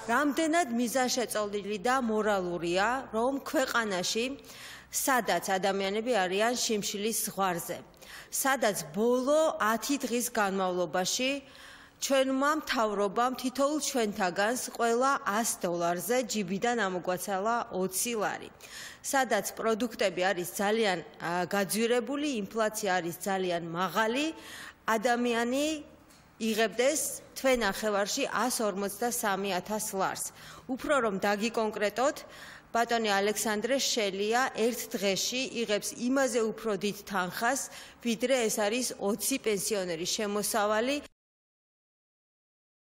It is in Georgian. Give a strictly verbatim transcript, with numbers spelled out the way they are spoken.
რამდენად მიზანშეწონილი და მორალურია, რომ ქვეყანაში სადაც ადამიანები არიან შიმშილის ზღვარზე, სადაც ბოლო ათი დღის განმავლობაში ჩვენმა მთავრობამ თითოეულ ჩვენთაგანს ყველა ას დოლარზე ჯიბიდან ამოგვაცალა ოცი ლარი. სადაც პროდუქტები არის ძალიან გაძვირებული, ინფლაცია არის ძალიან მაღალი, ადამიანი იღებდეს თვე ნახევარში ას ორმოცდასამი ათას ლარს. უფრო რომ დაგიკონკრეტოთ, ბატონი ალექსანდრე შელია ერთ დღეში იღებს იმაზე უფრო დიდ თანხას, ვიდრე ეს არის ოცი პენსიონერის შემოსავალი.